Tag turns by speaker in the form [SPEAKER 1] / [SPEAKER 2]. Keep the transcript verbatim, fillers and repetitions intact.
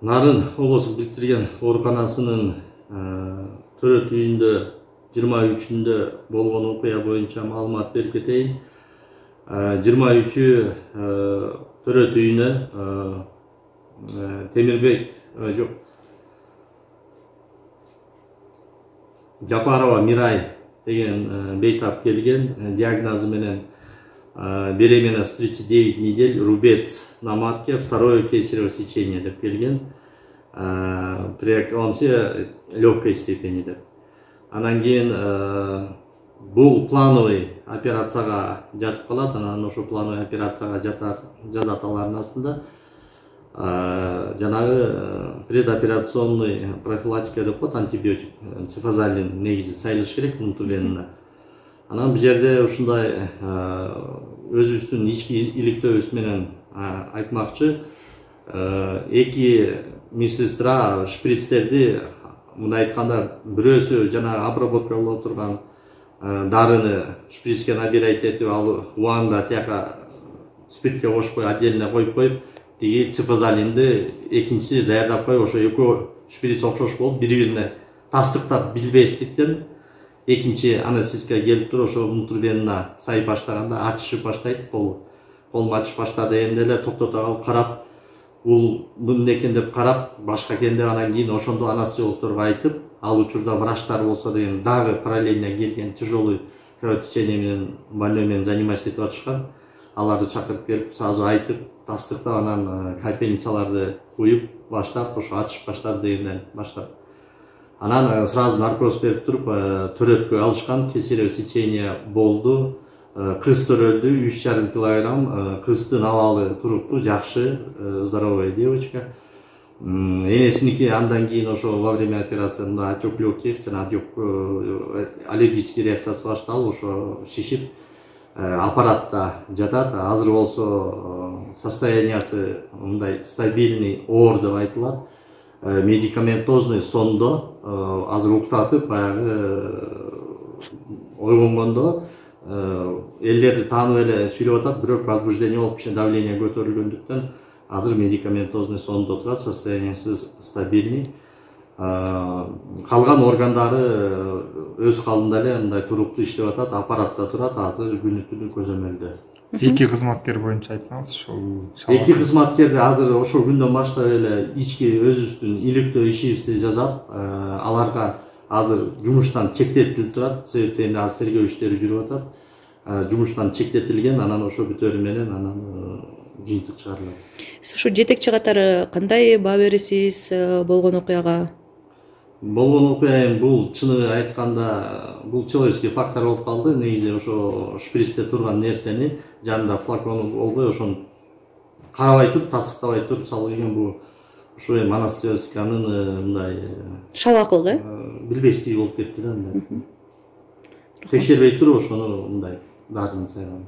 [SPEAKER 1] Нарын облустук бириктирген ооруканасынын төрөт үйүндө жыйырма үчүндө болгон окуя боюнча маалымат берип кетейин. жыйырма үчү төрөт үйүнө Темирбек жок Жапарова Мирай деген бейтап келген, диагнозу менен беременность тридцать девять недель, рубец на матке, второе кесарево сечение деп келген. Преэкламсия легкой степени деп. Анан кийин бул плановый операцияга жатып калат, анан ошо плановый операцияга жазат алардын астында. Жанагы предоперационный профилактика деп коет, антибиотик, цифазалин негизи сайылыш керек внутривенно. Анан бул жерде ушундай өзүбүздүн ички иликтөөбүз менен айтмакчы, эки медсестра шприцтерди мындай айтканда бирөөсү жана обработка боло турган дарыны шприцке набирать этип, ал убагында тияка спиртке кошпой отдельно коюп коюп, тиги цифазалинди экинчиси даярдап коюп, ошо экөө шприц окшош болуп бири-бирине тастыктап билбестиктен экинчи анестезистке келип туруп ошо внутривенно сайып баштаганда ачышып баштайт, кол колум ачыш баштады дегенде эле токтото калып карап, бул эмне экен деп карап, башка экен деп анан кийин ошондо анестезиологторго айтып, ал учурда врачтар болсо деген дагы параллельно келген, тяжелый кровотечение менен больной менен заниматься этип атышкан. Аларды чакырып келип, сразу айтып, тастыктап, анан капельницаларды куюп баштап, ошо ачышып баштады дегенден баштап. Анан сразу наркоз берип туруп төрөткө алышкан, кесарево сечение болду. Кыз төрөлдү, үч жарым килограмм, кыздын абалы туруктуу, жакшы, здоровая девочка. Энесиники андан кийин ошо во время операции мында отек легких, жана отек аллергический реакциясы башталып, ошо шишип аппаратта жатат. Азыр болсо состояниясы мындай стабильный, оор деп айтылат. Медикаментозный сондо, азыр уктатып, баягы ойгонгондо элдерди таанып эле сүйлөп атат, бирок возбуждение болуп, кичине давление көтөрүлгөндүктөн азыр медикаментозный сондо турат, состояниясы стабильный. Калган органдары өз калдында эле мындай туруктуу иштеп атат, аппаратта турат, азыр күнү түнү көзөмөлдө.
[SPEAKER 2] Эки кызматкер боюнча айтсаңыз, ошол
[SPEAKER 1] эки кызматкерди азыр ошол күндөн баштап эле ички өзүбүздүн иликтөө ишибизди жасап, аларга азыр жумуштан чектетилип турат, себептен азыр тергөө иштери жүрүп атат. Жумуштан чектетилген, анан ошо бүтөрү менен анан жыйынтык чыгарылат.
[SPEAKER 3] Сиз ушу жетекчи катары кандай баа бересиз болгон окуяга?
[SPEAKER 1] Болгон окуя бул чыны айтканда бул человеческий фактор болуп калды. Негизи ошо шприцте турган нерсени жанында флакон болбой, ошону карабай туруп, тастыктабай туруп салып келген. Бул ошо эми анестезиянын мындай
[SPEAKER 3] шалакылык, э?
[SPEAKER 1] Билбестиги болуп кетти да мындай. Текшербей туруп ошону мындай дарыны сайган.